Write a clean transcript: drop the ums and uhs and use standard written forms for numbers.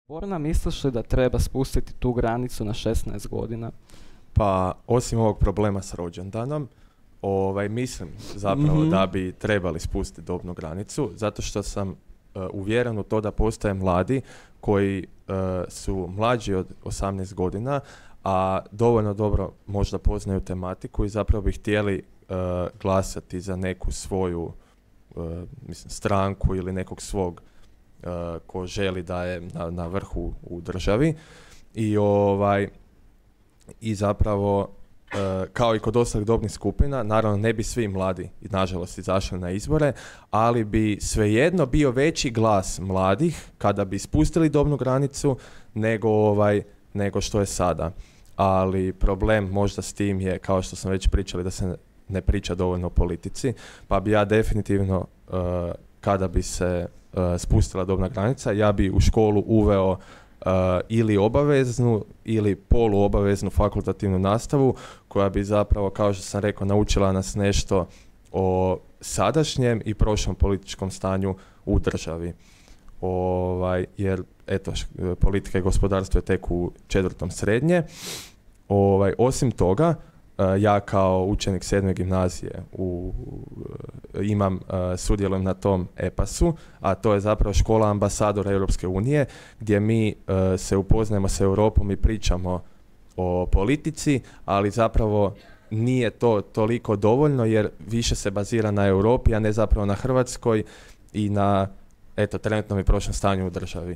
Borna, misliš li da treba spustiti tu granicu na 16 godina? Pa, osim ovog problema s rođendanom, mislim zapravo Mhm. da bi trebali spustiti dobnu granicu, zato što sam uvjeren u to da postoje mladi koji su mlađi od 18 godina, a dovoljno dobro možda poznaju tematiku i zapravo bi htjeli glasati za neku svoju stranku ili nekog svog ko želi da je na vrhu u državi. I zapravo kao i kod ostalih dobnih skupina, naravno ne bi svi mladi nažalost izašli na izbore, ali bi svejedno bio veći glas mladih kada bi spustili dobnu granicu nego što je sada. Ali problem možda s tim je, kao što smo već pričali, da se ne priča dovoljno o politici, pa bi ja definitivno kada bi se spustila dobna granica, ja bi u školu uveo ili obaveznu ili poluobaveznu fakultativnu nastavu koja bi zapravo, kao što sam rekao, naučila nas nešto o sadašnjem i prošlom političkom stanju u državi. Jer eto, politika i gospodarstvo je tek u 4. srednje. Osim toga, ja kao učenik 7. gimnazije sudjelujem na tom EPAS-u, a to je zapravo škola ambasadora Europske unije, gdje mi se upoznajemo s Europom i pričamo o politici, ali zapravo nije to toliko dovoljno jer više se bazira na Europi, a ne zapravo na Hrvatskoj i na trenutnom i prošlom stanju u državi.